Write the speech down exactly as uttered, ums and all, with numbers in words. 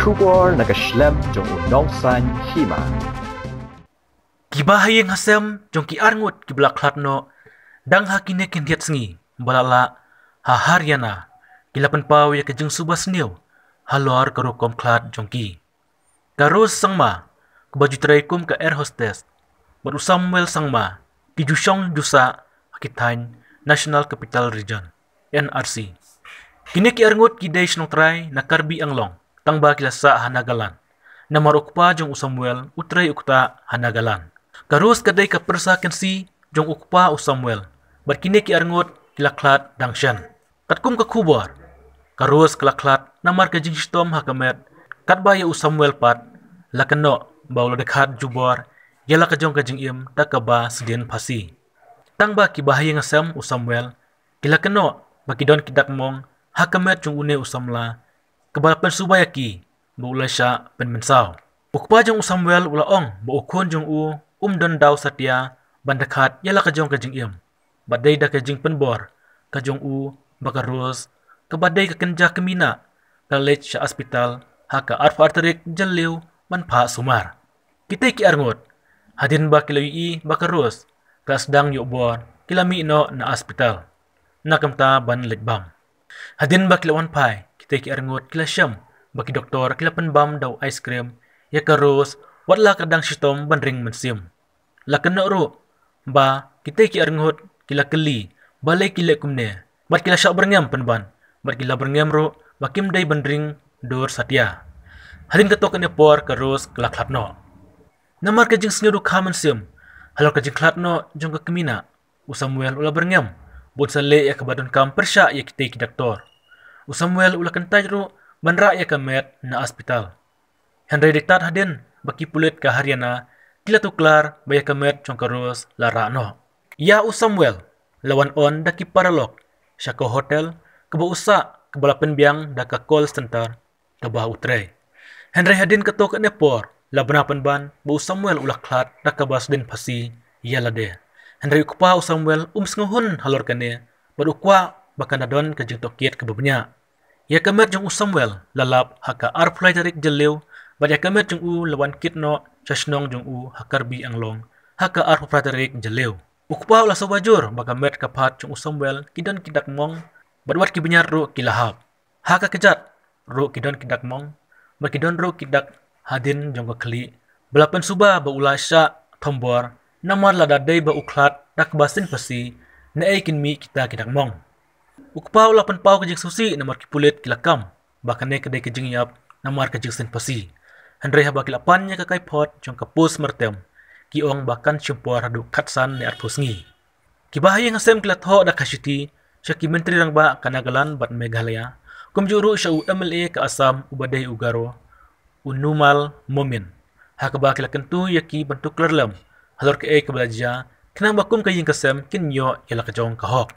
Khubor na ka shlem jong u nongsan hima. Kiba ha ïing ha sem jong ki arngut kiba la khlad noh dang ha kine ki hynriat sngi ba la lah ha Haryana ki la pynpaw ïa ka jingsuba sniew halor ka rukom khlad jong ki. Ka Rose Sangma, kaba ju trei kum ka air hostess, bad u Samuel Sangma, ki ju shong ju sah ha ki thaiñ National Capital Region, N R C. Kine ki arngut ki dei shnong trai na Karbi Anglong, tangba ki la sah ha Nagaland. Namar u kpa jong u Samuel u trei u ktah ha Nagaland. Ka Rose ka dei ka pyrsa kynsi jong u kpa u Samuel, bad kine ki arngut ki la khlad dang shen. Katkum ka khubor, ka Rose ka la khlad namar ka jingshitom ha ka met, katba ïa u Samuel pat la kynnoh ba u la dkhat jubor ïa la ka jong ka jingim da kaba sdien phasi. Tangba kiba ha ïing ha sem u Samuel ki la kynnoh ba ki don ki dak mong ha ka met jong une u samla, kaba la pynsuba ïa ki ba u la shah pynmynsaw. U kpa jong u Samuel u la ong ba u khun jong u um don daw satia ban dkhat ïa la ka jong ka jingim, bad dei da ka jingpynbor ka jong u ba ka Rose, kaba dei ka kynja kmie, ka la leit sha hospital ha ka arphew ar tarik Jylliew ban phah sumar. Kitei ki arngut, hadien ba ki la ïohi ba ka Rose ka sdang ïoh bor, ki la mih noh na hospital na ka bynta ban leit bam. Hadien ba ki la wan phai, kitei ki arngut ki la shem ba ki doktor ki la pynbam da u ice cream ïa ka Rose, wat la ka dang shitom ban ring mynsiem. La kynnoh ruh ba kitei ki arngut ki la kylli balei ki leh kumne, bad ki la shah byrngem pynban, bad ki la byrngem ruh ba kim dei ban ring dur satia. Hadien katto katne por ka Rose ka la khlad noh. Namar ka jingsngewdukha mynsiem halor ka jingkhlad noh jong ka kmie, u Samuel u la byrngem ba un sa leh ïa kaba donkam pyrshah ïa kitei ki doktor. U Samuel u la kyntait ruh ban rah ïa ka met na hospital. Hynrei dei tad hadien ba ki pulit ka Haryana ki la tuklar ba ïa ka met jong ka Rose la rah noh. Ïa u Samuel la wan on da ki paralok sha ka hotel kaba u sah, kaba la pynbiang da ka call center kaba u trei. Hynrei hadien katto katne por la bna pynban ba u Samuel u la khlad da kaba sdien phasi ïa lade. Hynrei u kpa u Samuel um sngewhun halor kane, bad u kwah ba kan da don ka jingtohkit kaba bniah. Ïa ka met jong u Samuel la lap ha ka arphew lai tarik Jylliew, bad ïa ka met jong u la wan kit noh sha shnong jong u ha Karbi Anglong ha ka arphew phra tarik Jylliew. U kpa u la suba jur ba ka met ka phad jong u Samuel ki don ki dak mong, bad wat ki bniat ruh ki la hap. Ha ka kjat ruh ki don ki dak mong, bad ki don ruh ki dak hadien jong ka khlieh, ba la pynsuba ba u la shah thombor, namar lada dei ba u khlad da kaba sdien phasi, naei kin mih kita ki dak mong. U kpa u la pynpaw ka jingsngewsih namar ki pulit ki la kam ba kane ka dei ka jingïap namar ka jingsdien phasi. Hynrei haba ki la pan ïa ka kaiphod jong ka postmortem, ki ong ba kan shim por haduh khatsan ne arphew sngi. Kiba ha ïing ha sem ki la thoh da ka shithi sha ki myntri rangbah ka Nagaland bad Meghalaya, kumjuh ruh sha u M L A ka Assam uba dei u Garo, u Numal Momin, ha kaba ki la kyntu ïa ki ban tuklar lem halor kaei kaba la jia, khnang ba kum ka ïing ka sem kin ïoh ïa la ka jong ka hok.